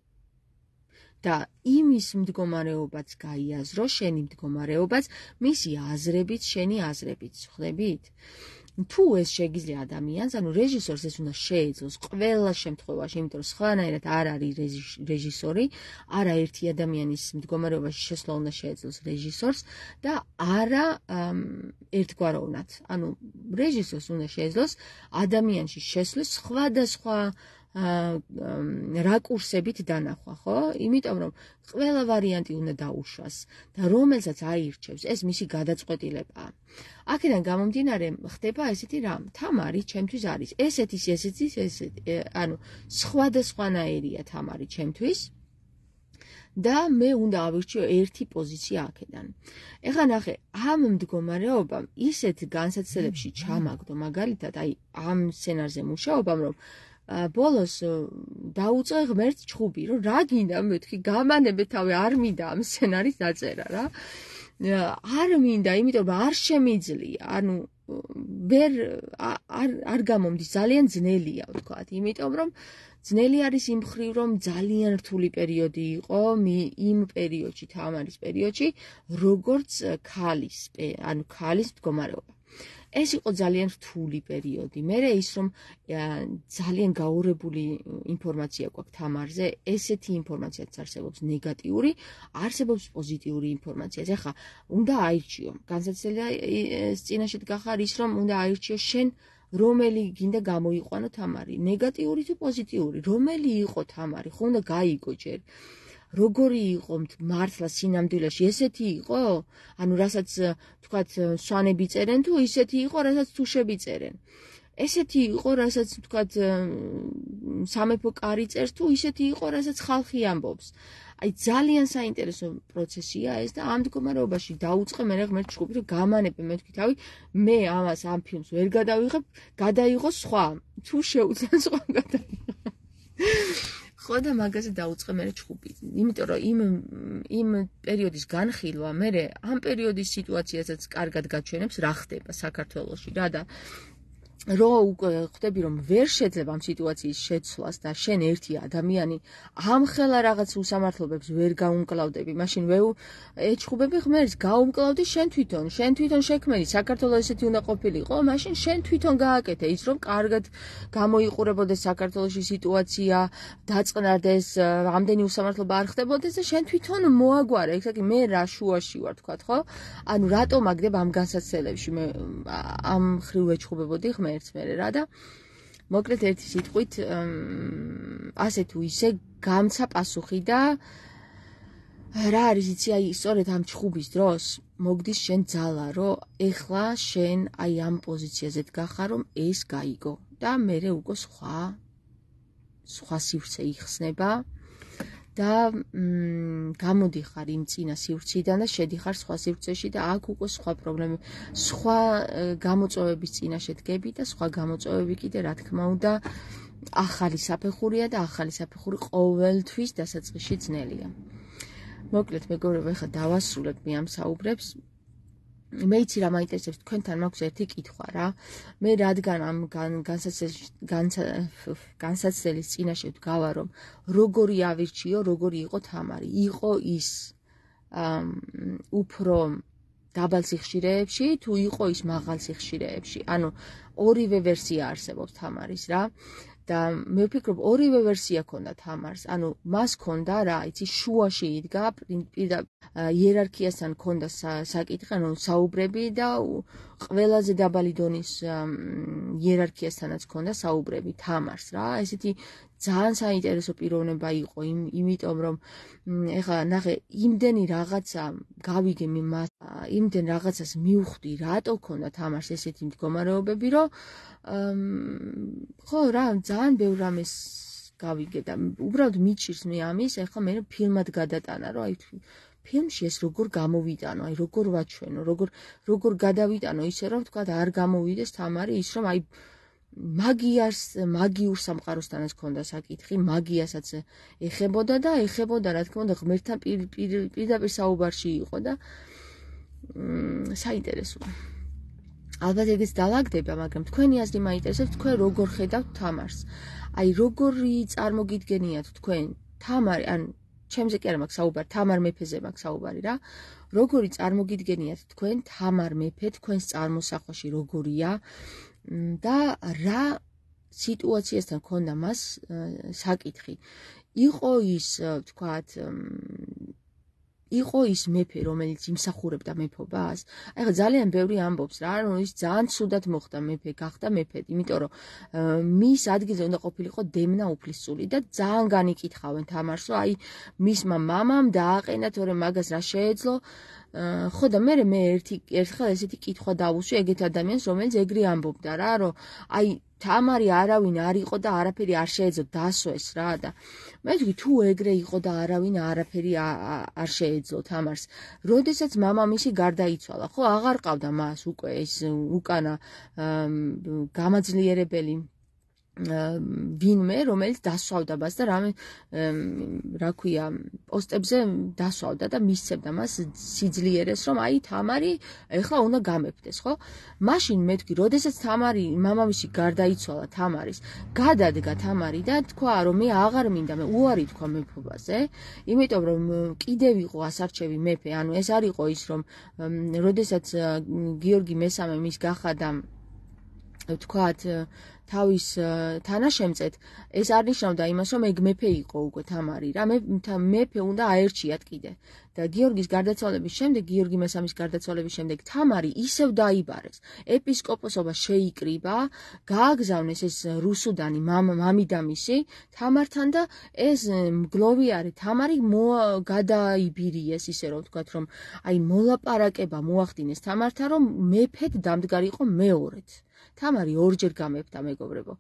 და იმის მდგომარეობაც გაიაზრო, შენი მდგომარეობაც, მისი აზრებით, შენი აზრებით, ხვდებით? თუ ეს შეგიძლია ადამიანს, ანუ რეჟისორს ეს უნდა შეეძლოს ყველა შემთხვევაში, იმიტომ რომ სხვანაირად არ არის რეჟისორი, არა ერთი ადამიანის მდგომარეობაში შესვლა უნდა შეეძლოს რეჟისორს და არა ერთგვაროვნად. ანუ რეჟისორს უნდა შეეძლოს ადამიანში შესვლის სხვადასხვა რაკურსებით დანახვა, ხო? იმიტომ რომ ყველა ვარიანტი უნდა დაუშვას და რომელსაც აირჩევს, ეს მისი გადაწყვეტილებაა. აქედან გამომდინარე, ხდება ესეთი რამ, თამარი ჩემთვის არის ესეთის, ესეთის, ესეთი, ანუ სხვადასხვანაირია თამარი ჩემთვის. და მე უნდა ავირჩიო ერთი პოზიცია აქედან. ეხლა ნახე, ამ მდგომარეობამ ისეთ განსაცდელებში ჩამაგდო, მაგალითად, აი ამ სცენარზე მუშაობამ, რომ ბოლოს დაუწყე ღმერთს ჩხუბი, რომ რა გინდა, მეთქი, გამანებე თავი, არ მინდა ამ სცენარის დაწერა რა. არ მინდა, იმიტომ რომ არ შემიძლია, ანუ ვერ არ არ გამომდის, ძალიან ძნელია, ვთქვათ, იმიტომ რომ ძნელი არის იმ მხრივ, რომ ძალიან რთული პერიოდი იყო იმ პერიოდში, თამარის პერიოდში, როგორც ქალის, ანუ ქალის მდგომარეობა. ეს იყო ძალიან რთული პერიოდი. მერე ის, რომ ძალიან გაურებული ინფორმაცია გვაქვს თამარზე, ესეთი ინფორმაციაც არსებობს ნეგატიური, არსებობს პოზიტიური ინფორმაციაც. ეხლა უნდა აირჩიო. განსაცდელია წინაშე დგახარ ის, რომ უნდა აირჩიო შენ რომელი გინდა გამოიყვანო თამარი, ნეგატიური თუ პოზიტიური, რომელი იყო თამარი, ხო უნდა გაიგო ჯერ. როგორი იყო მართლა სინამდვილეში, ესეთი იყო? ანუ რასაც თქვათ სვანები წერენ თუ ისეთი იყო, რასაც თუშები წერენ. ესეთი იყო, რასაც თქვათ სამეფო კარი წერს თუ ისეთი იყო, რასაც ხალხი ამბობს. აი ძალიან საინტერესო პროცესია ეს და ამ მდგომარეობაში დაუწყე მე ღმერთს ჩხუბი, რომ გამანებე მე თქვი თავი, მე ამას ამ ფილმს ვერ გადავიღებ, გადაიღო სხვა. თუ შეუძლია სხვა გადაიღო. ხო და მაგაზე დაუწყე მე ჩხუბი. იმიტომ რომ იმ იმ პერიოდის განხილვა მე ამ პერიოდის სიტუაციასაც კარგად გაჩვენებს რა ხდება საქართველოში რა და რო ხვდები რომ ვერ შეძლებ ამ სიტუაციის შეცვლას და შენ ერთი ადამიანი ამხელა რაღაც უსამართლობებს ვერ გაუმკლავდები, მაშინ ვეუ ეჩხუბები ღმერთს, გაუმკლავდი შენ თვითონ, შენ თვითონ შექმენი, საქართველოს ესეთი უნდა ყოფილიყო, მაშინ შენ თვითონ გააკეთე ის, რომ კარგად გამოიყურებოდეს საქართველოში სიტუაცია, დაწყნარდეს, ამდენი უსამართლობა არ ხდებოდეს და შენ თვითონ მოაგვარე, ესე იგი მე რა შუაში ვარ, თქვათ, ხო? ანუ რატომ აგდებ ამ განსაცდელებში მე ამ ხრივ ეჩხუბებოდი ღმერთს მერე რა და მოკლედ ერთი სიტყვით ასე თუ ისე გამცა პასუხი და რა არის იცი აი სწორედ ამ ჩხუბის დროს მოგდის შენ ძალა რომ ეხლა შენ აი ამ პოზიციაზე დგახარ რომ ეს გაიგო და მერე უკვე სხვა სხვა სივრცე იხსნება და გამოდიხარ იმ წინა სივრციდან და შედიხარ სხვა სივრცეში და აქ უკვე სხვა პრობლემები, სხვა გამოწვევების წინაშე დგები და სხვა გამოწვევები კიდე რა თქმა უნდა ახალი საფეხურია და ახალი საფეხური ყოველთვის დასაწყისში ძნელია. მოკლედ მეგობრებო, ეხლა დავასრულებ მე ამ საუბრებს. მე იცი რა მაინტერესებს, თქვენთან მაქვს ერთი კითხვა რა. მე რადგან ამ განსაცდელის წინაშე ვდგავა, რომ როგორი ავირჩიო, როგორი იყო თამარი. იყო ის უფრო დაბალ სიხშირეებში, თუ იყო ის მაღალ სიხშირეებში. ანუ ორივე ვერსია არსებობს თამარის რა. და მე ვფიქრობ, ორივე ვერსია ქონდა თამარს. ანუ მას ქონდა რა, იცი, შუაში იდგა იერარქიასთან ქონდა საკითხი, ანუ საუბრები და ყველაზე დაბალი დონის იერარქიასთანაც ქონდა საუბრები თამარს რა. ესეთი ძალიან საინტერესო პიროვნება იყო, იმიტომ რომ ეხლა ნახე, იმდენი რაღაცა გავიგე მე მას, იმდენ რაღაცას მივხვდი, რატო ქონდა თამარს ესეთი მდგომარეობები, რომ ხო რა, ძალიან ბევრ რამეს გავიგე და უბრალოდ მიჩირს მე ამის, ეხლა მე ფილმად გადატანა, რომ აი ფილმში ეს როგორ გამოვიტანო, აი როგორ ვაჩვენო, როგორ როგორ გადავიტანო ისე რომ თქვა არ გამოვიდეს თამარი ის რომ აი მაგიას, მაგიურ სამყაროსთანაც ქონდა საკითხი, მაგიასაც ეხებოდა და ეხებოდა რა თქმა უნდა ღმერთთან პირდაპირ საუბარში იყო და საინტერესოა. ალბათ ეგეც დაალაგდება, მაგრამ თქვენი აზრი მაინტერესებს, თქვენ როგორ ხედავთ თამარს? აი როგორი წარმოგიდგენიათ თქვენ თამარი, ან ჩემზე კი არა მაქვს საუბარი, თამარ მეფეზე მაქვს საუბარი რა. როგორი წარმოგიდგენიათ თქვენ თამარ მეფე თქვენს წარმოსახვაში როგორია და რა სიტუაციასთან ქონდა მას საკითხი. იყო ის, ვთქვათ, იყო ის მეფე, რომელიც იმსახურებდა მეფობას? აი ხა ძალიან ბევრი ამბობს რა, რომ ის ძალიან ცუდად მოხდა მეფე, გახდა მეფე, იმიტომ რომ მის ადგილზე უნდა ყოფილიყო დემნა უფლისწული და ძალიან განიკითხავენ თამარს, რომ აი მისმა მამამ დააყენა, თორემ მაგას რა შეეძლო. ხო და მე მე ერთი ერთხელ ესეთი კითხვა დავუსვი ეგეთ ადამიანს, რომელიც ეგრე ამბობდა რა, რომ აი თამარი არავინ არ იყო და არაფერი არ შეეძლო დასვეს რა და მე ვთქვი თუ ეგრე იყო და არავინ არაფერი არ შეეძლო თამარს, როდესაც მამამისი გარდაიცვალა, ხო აღარ ყავდა მას უკვე ეს უკანა გამაძლიერებელი ვინმე, რომელიც დასვავდა მას და რამე რა ქვია, პოსტებზე დასვავდა და მისცემდა მას სიძლიერეს, რომ აი თამარი ეხლა უნდა გამეფდეს, ხო? მაშინ მე ვთქვი, როდესაც თამარი მამამისი გარდაიცვალა თამარის, გადადგა თამარი და თქვა, რომ მე აღარ მინდა, მე უარი თქვა მეფობაზე, იმიტომ რომ კიდევ იყო ასარჩევი მეფე, ანუ ეს არ იყო ის, რომ როდესაც გიორგი მესამე მის გახადა ვთქვათ თავის თანაშემწედ, ეს არ ნიშნავდა იმას, რომ ეგ მეფე იყო უკვე თამარი რა, მეფე უნდა აერჩიათ კიდე. და გიორგის გარდაცვალების შემდეგ, გიორგი მესამის გარდაცვალების შემდეგ თამარი ისევ დაიბარეს. ეპისკოპოსობა შეიკრიბა, გააგზავნეს ეს რუსუდანი მამიდამისი თამართან და ეს მგლოვიარე თამარი გადაიბერიეს, ისე რომ ვთქვათ, რომ აი მოლაპარაკება მოახდინეს თამართან, რომ მეფედ დამდგარიყო მეორედ. თამარი ორჯერ გამეფდა, მეგობრებო.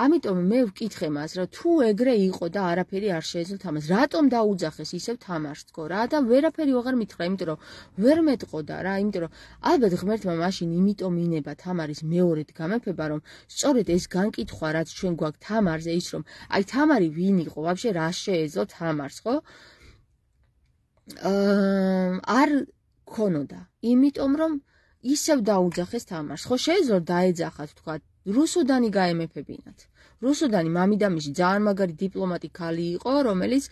ამიტომ მე ვკითხე მას, რა თუ ეგრე იყო და არაფერი არ შეეძლო თამარს, რატომ დაუძახეს ისევ თამარს თქო რა და ვერაფერი აღარ მითხრა, იმიტომ რომ ვერ მეტყოდა რა, იმიტომ რომ ალბათ ღმერთმა მაშინ იმიტომ ინება თამარის მეორედ გამეფება, რომ სწორედ ეს განკითხვა, რაც ჩვენ გვაქვს თამარზე, ის რომ აი თამარი ვინ იყო, ვაფშე რა შეეძლო თამარს, ხო? არ ქონოდა, იმიტომ რომ ისევ დაუძახეს თამარს, ხო შეეძლო დაეძახათ, თქვა, რუსუდანი გაემეფებინათ. რუსუდანი მამიდამისი ძალიან მაგარი დიპლომატი ქალი იყო, რომელიც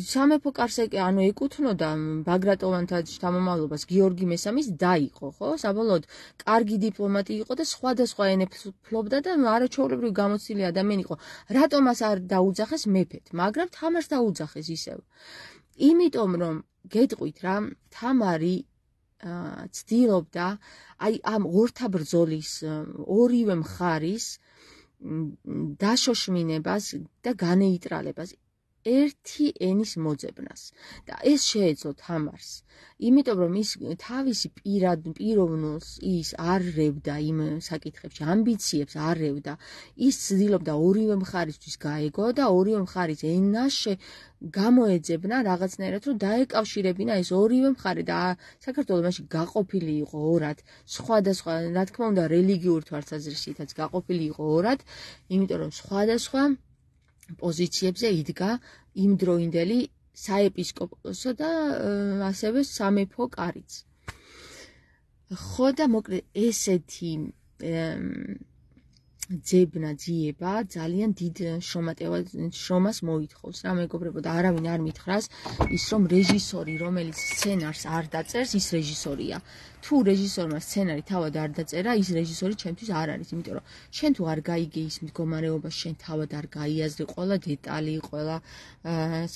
სამეფო კარს ანუ ეკუთვნოდა ბაგრატონთა შთამომავლობას გიორგი მესამის და იყო, ხო? საბოლოოდ კარგი დიპლომატი იყო და სხვადასხვა ენებს ფლობდა და არაჩვეულებრივ გამოცდილი ადამიანი იყო. რატომ მას არ დაუძახეს მეფედ, მაგრამ თამარს დაუძახეს ისევ. იმიტომ რომ გეტყვით რა, თამარი ცდილობდა აი ამ ორთა ბრძოლის ორივე მხარის დაშოშმინებას და განეიტრალებას. ერთი ენის მოძებნას და ეს შეეძლო თამარს იმიტომ რომ ის თავისი პირად პიროვნულს ის არ რევდა იმ საკითხებში ამბიციებს არ რევდა ის ცდილობდა ორივე მხარისთვის გაეგო და ორივე მხარის ენას გამოეძებნა რაღაცნაირად რომ დაეკავშირებინა ეს ორივე მხარე და საქართველოს მაშინ გაყოფილი იყო ორად სხვადასხვა რა თქმა უნდა რელიგიურ თვალსაზრისითაც გაყოფილი იყო ორად იმიტომ რომ სხვადასხვა პოზიციებზე იდგა იმდროინდელი საეპისკოპოსო და ასევე სამეფო კარიც. ხო და მოკლედ ესეთი ძებნა ძიება ძალიან დიდ შრომას მოითხოვს რა მეგობრებო და არავინ არ მითხრას ის რომ რეჟისორი რომელიც სცენარს არ დაწერს ის რეჟისორია თუ რეჟისორმა სცენარი თავად არ დაწერა ის რეჟისორი ჩემთვის არ არის იმიტომ რომ შენ თუ არ გაიგე ის მდგომარეობა შენ თავად არ გაიაზრე ყველა დეტალი ყველა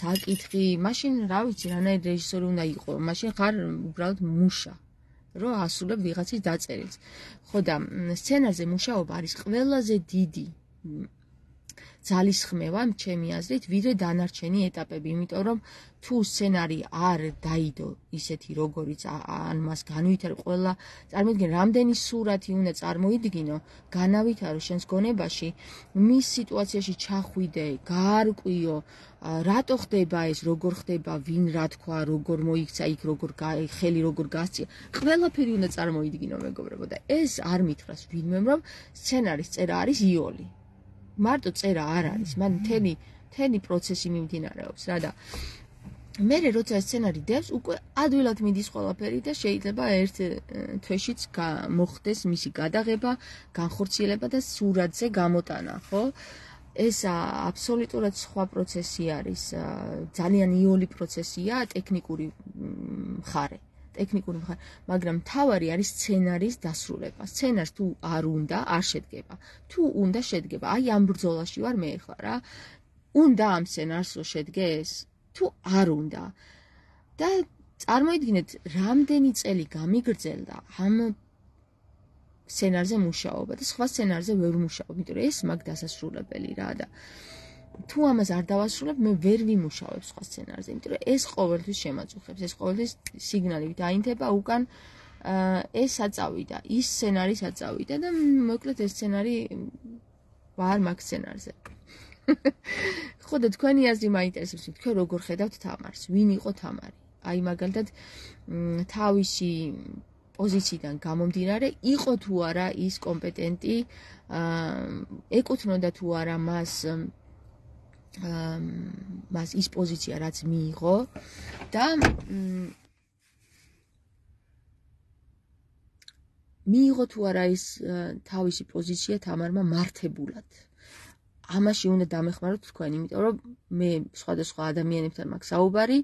საკითხი მაშინ რა ვიცი რანაირ რეჟისორი უნდა იყო მაშინ ხარ უბრალოდ მუშა რომ ასრულებ ვიღაცის დაწერილს. ხო და სცენარზე მუშაობა არის ყველაზე დიდი ძალისხმევა ჩემი აზრით, ვიდრე დანარჩენი ეტაპები, იმიტომ რომ თუ სცენარი არ დაიდო ისეთი როგორიც ან მას განვითარო ყველა წარმოიდგინე რამდენი სურათი უნდა წარმოიდგინო, განავითარო შენს გონებაში, მის სიტუაციაში ჩახვიდე, გაარკვიო, რატო ხდება ეს, როგორ ხდება, ვინ რა თქვა, როგორ მოიქცა იქ, როგორ ხელი როგორ გასწია, ყველაფერი უნდა წარმოიდგინო მეგობრებო და ეს არ მითხრას ვინმემ რომ სცენარის წერა არის იოლი. მარტო წერა არ არის, მან მთელი მთელი პროცესი მიმდინარეობს რა და მე როცა სცენარი დევს, უკვე ადვილად მიდის ყველაფერი და შეიძლება ერთ თვეშიც მოხდეს მისი გადაღება, განხორციელება და სურათზე გამოტანა, ხო? ეს აბსოლუტურად სხვა პროცესი არის, ძალიან იოლი პროცესია, ტექნიკური მხარე. ტექნიკური მხარე, მაგრამ მთავარი არის სცენარის დასრულება. სცენარს თუ არ უნდა, არ შედგება. თუ უნდა შედგება, აი ამ ბრძოლაში ვარ მე ახლა რა. უნდა ამ სცენარს შედგეს? თუ არ უნდა. და წარმოიდგინეთ, რამდენი წელი გამიგრძელდა ამ სცენარზე მუშაობა და სხვა სცენარზე ვერ მუშაობ, იმიტომ რომ ეს მაგ დასასრულებელი რა და თუ ამას არ დავასრულებ, მე ვერ ვიმუშავებ სხვა სცენარზე, იმიტომ რომ ეს ყოველთვის შემაწუხებს, ეს ყოველთვის სიგნალით დაინთება უკან ეს აწავიდა, ის სცენარი აწავიდა და მოკლედ ეს სცენარი ვარ მაგ სცენარზე. ხო და თქვენი აზრი მაინტერესებს, თქვენ როგორ ხედავთ თამარს, ვინ იყო თამარი? აი მაგალითად თავისი პოზიციიდან გამომდინარე, იყო თუ არა ის კომპეტენტი, ეკუთვნოდა თუ არა მას მას ის პოზიცია რაც მიიღო და მიიღო თუ არა ის თავისი პოზიცია თამარმა მართებულად. ამაში უნდა დამეხმაროთ თქვენ, იმიტომ რომ მე სხვადასხვა ადამიანებთან მაქვს საუბარი,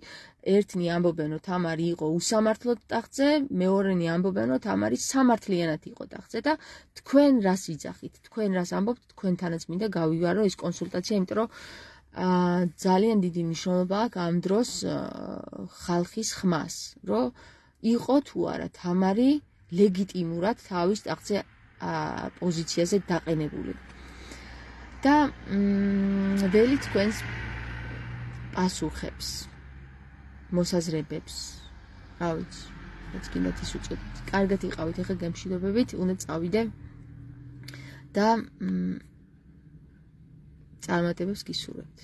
ერთნი ამბობენ, რომ თამარი იყო უსამართლოდ ტახტზე, მეორენი ამბობენ, რომ თამარი სამართლიანად იყო ტახტზე და თქვენ რას იძახით, თქვენ რას ამბობთ, თქვენთანაც მინდა გავივარო ეს კონსულტაცია, იმიტომ რომ ძალიან დიდი მნიშვნელობა აქვს ამ დროს ხალხის ხმას, რომ იყო თუ არა თამარი ლეგიტიმურად თავის ტახტზე პოზიციაზე დაყენებული. და ველი თქვენს პასუხებს, მოსაზრებებს, რა ვიცი, რაც გინდათ ის უწოდოთ. კარგად იყავით, ახლა გემშვიდობებით, უნდა წავიდე და წარმატებებს გისურვებთ.